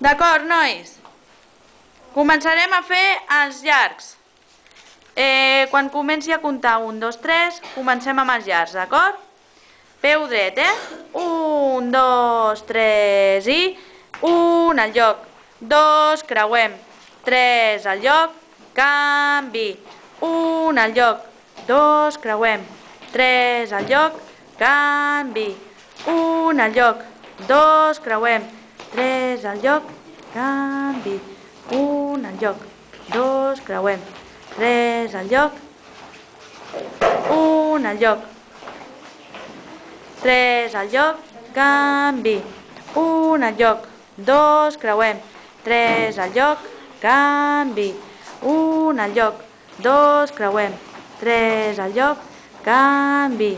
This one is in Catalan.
D'acord, nois? Començarem a fer els llargs. Quan comenci a comptar 1, 2, 3, comencem amb els llargs, d'acord? Peu dret, 1, 2, 3 i 1 al lloc, 2, creuem, 3 al lloc, canvi, 1 al lloc, 2, creuem, 3 al lloc, canvi, 1 al lloc, 2, creuem, 3 al lloc, canvi, 1 al lloc, 2, creuem, 3 al lloc, 1 al lloc, 3 al lloc, canvi, 1 al lloc, 2, creuem, 3 al lloc, canvi, 1 al lloc, 2, creuem, 3 al lloc, canvi.